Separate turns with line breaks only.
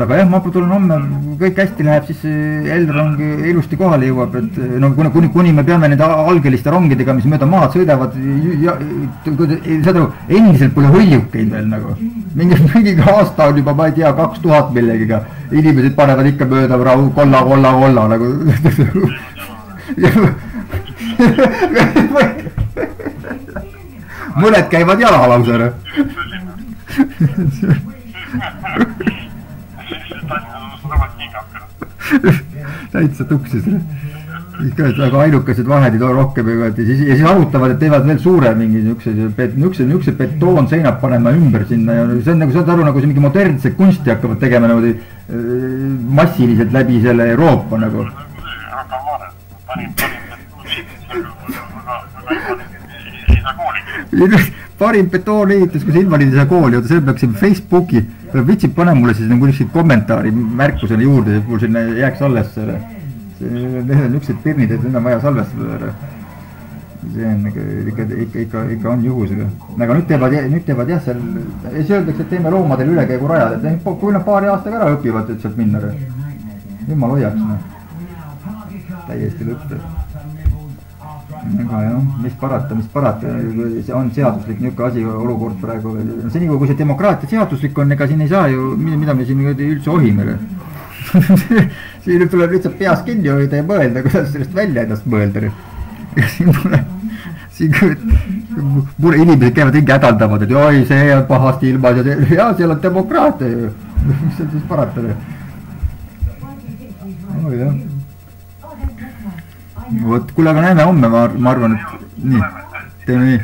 aga jah, ma tulen homme, kõik hästi läheb, siis Elrong ilusti kohale jõuab, et no kuni me peame nende algeliste rongidega, mis mööda maad sõidavad, saad aru, endiselt pole hõljukeid veel nagu. Mingi aasta on juba, ma ei tea, 2000 millegiga. Inimesed panevad ikka mööda kolla nagu. Mõned käivad jala lausele. Täitsa tuksis. Aga ainukesed vahed ei too rohkem ja siis arutavad, et teevad veel suure mingi niukse betoon seinab panema ümber sinna ja see on nagu, saad aru, nagu see mingi modernse kunsti hakkavad tegema nagu massiliselt läbi selle Euroopa nagu. Parim betooniitus, kus invaliid ei saa kooli, see peaks Facebooki, vitsib pane mulle siis nagu niisugused kommentaari märkusele juurde, mul sinna jääks alles selle. Need on niisugused pirnid, et need on vaja salvestada. See on ikka on juhusega. Aga nüüd teevad jah, siis öeldakse, et teeme loomadel ülekäigu rajad, et kui nad paari aastaga ära õpivad, et sealt minna. Jumal hoiaks. Täiesti lõpeb. Aga jah, mis parata, see on seaduslik niisugune asi olukord praegu. Seni kui see demokraatia seaduslik on, ega siin ei saa ju, mida me siin üldse ohime. Siin tuleb lihtsalt peas kinni hoida ja mõelda, kuidas sellest välja ennast mõelda. Siin inimesed käivad ringi hädaldavad, et oi, see on pahasti ilmas ja seal on demokraatia ju. Mis on siis parata? Oh jah. Vot, kuule, aga näeme homme, ma arvan, et nii, teeme nii.